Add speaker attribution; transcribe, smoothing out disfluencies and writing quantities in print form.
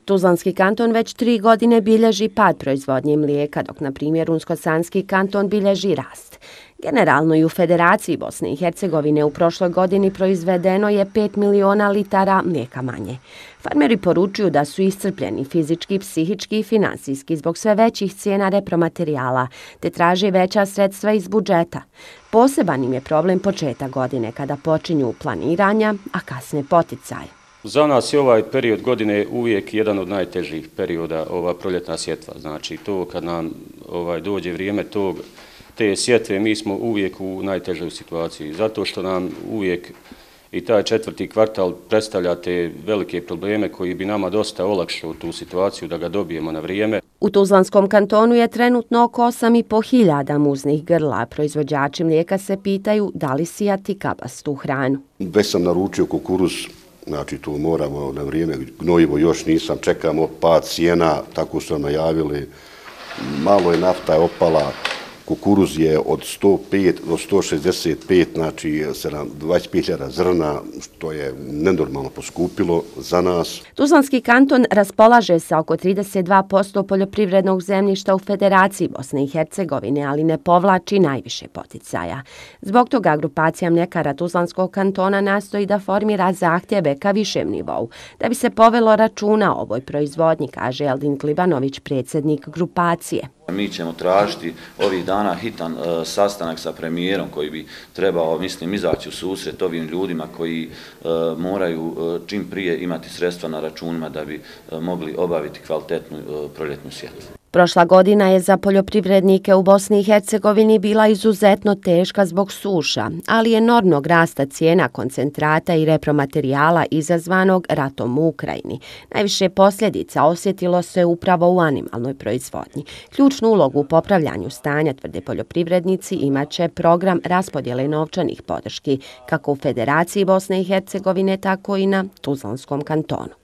Speaker 1: Tuzlanski kanton već 3 godine bilježi pad proizvodnje mlijeka, dok na primjer Unsko-Sanski kanton bilježi rast. Generalno i u Federaciji Bosne i Hercegovine u prošloj godini proizvedeno je 5 miliona litara mlijeka manje. Farmeri poručuju da su iscrpljeni fizički, psihički i finansijski zbog sve većih cijena repromaterijala, te traže veća sredstva iz budžeta. Poseban im je problem početak godine kada počinju planiranja, a kasne poticaje.
Speaker 2: Za nas je ovaj period godine uvijek jedan od najtežih perioda, ova proljetna sjetva. Znači to kad nam dođe vrijeme te sjetve, mi smo uvijek u najtežoj situaciji. Zato što nam uvijek i taj 4. kvartal predstavlja te velike probleme koji bi nama dosta olakšao tu situaciju da ga dobijemo na vrijeme.
Speaker 1: U Tuzlanskom kantonu je trenutno oko 8.500 muznih grla. Proizvođači mlijeka se pitaju da li sijati kabastu hranu.
Speaker 3: Već sam naručio kukuruz, znači tu moramo na vrijeme, gnojivo još nisam, čekamo pad cijena, tako su nam najavili, malo je nafta je opala, kukuruz je od 105 do 165, znači 25.000 zrna, što je nenormalno poskupilo za nas.
Speaker 1: Tuzlanski kanton raspolaže sa oko 32% poljoprivrednog zemljišta u Federaciji Bosne i Hercegovine, ali ne povlači najviše poticaja. Zbog toga grupacija mljekara Tuzlanskog kantona nastoji da formira zahtjeve ka višem nivou, da bi se povelo računa o ovoj proizvodnji, kaže Eldin Klibanović, predsjednik grupacije.
Speaker 4: Mi ćemo tražiti ovih dana hitan sastanak sa premijerom koji bi trebao, mislim, izaći u susret ovim ljudima koji moraju čim prije imati sredstva na računima da bi mogli obaviti kvalitetnu proljetnu sjetvu.
Speaker 1: Prošla godina je za poljoprivrednike u Bosni i Hercegovini bila izuzetno teška zbog suša, ali enormnog rasta cijena koncentrata i repromaterijala izazvanog ratom u Ukrajini. Najviše posljedica osjetilo se upravo u animalnoj proizvodnji. Ključnu ulogu u popravljanju stanja, tvrde poljoprivrednici, imaće program raspodjele novčanih podrški, kako u Federaciji Bosne i Hercegovine, tako i na Tuzlanskom kantonu.